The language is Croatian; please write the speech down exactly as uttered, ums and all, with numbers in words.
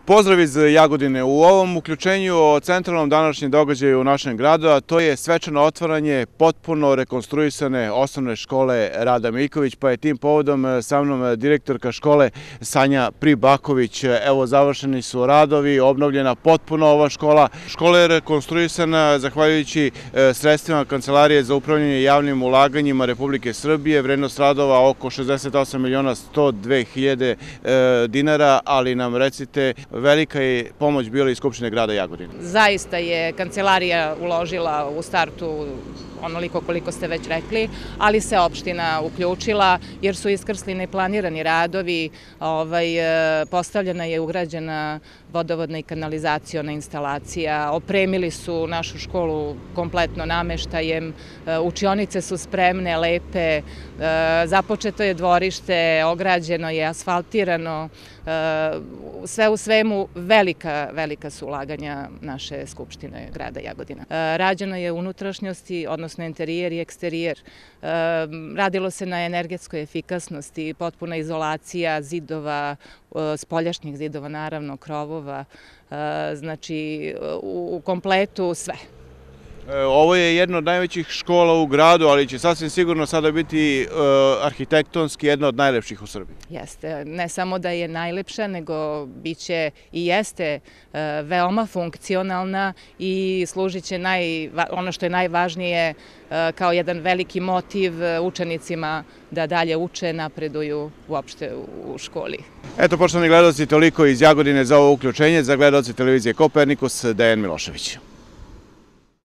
Pozdrav iz Jagodine. U ovom uključenju o centralnom današnjem događaju u našem gradu, a to je svečano otvaranje potpuno rekonstruisane osnovne škole Rada Miljković, pa je tim povodom sa mnom direktorka škole Sanja Pribaković. Evo, završeni su radovi, obnovljena potpuno ova škola. Škola je rekonstruisana zahvaljujući sredstvima Kancelarije za upravljanje javnim ulaganjima Republike Srbije. Vrednost radova oko šezdeset osam miliona sto dve hiljade dinara, ali nam recite, velika je pomoć bila iz Skupštine grada Jagodine. Zaista je Kancelarija uložila u startu onoliko koliko ste već rekli, ali se opština uključila jer su iskrsli neplanirani radovi, ovaj, postavljena je ugrađena vodovodna i kanalizaciona instalacija, opremili su našu školu kompletno nameštajem, učionice su spremne, lepe, započeto je dvorište, ograđeno je, asfaltirano, sve u svemu velika, velika su ulaganja naše Skupštine grada Jagodina. Rađeno je unutrašnjosti, odnosno interijer i eksterijer. Radilo se na energetskoj efikasnosti, potpuna izolacija zidova, spoljašnjih zidova, naravno, krovova, znači u kompletu sve. Ovo je jedna od najvećih škola u gradu, ali će sasvim sigurno sada biti arhitektonski jedna od najlepših u Srbiji. Jeste, ne samo da je najlepša, nego biće i jeste veoma funkcionalna i služit će ono što je najvažnije kao jedan veliki motiv učenicima da dalje uče, napreduju uopšte u školi. Eto, poštovani gledaoci, toliko iz Jagodine za ovo uključenje. Za gledaoci televizije Kopernikus, Dejan Milošević.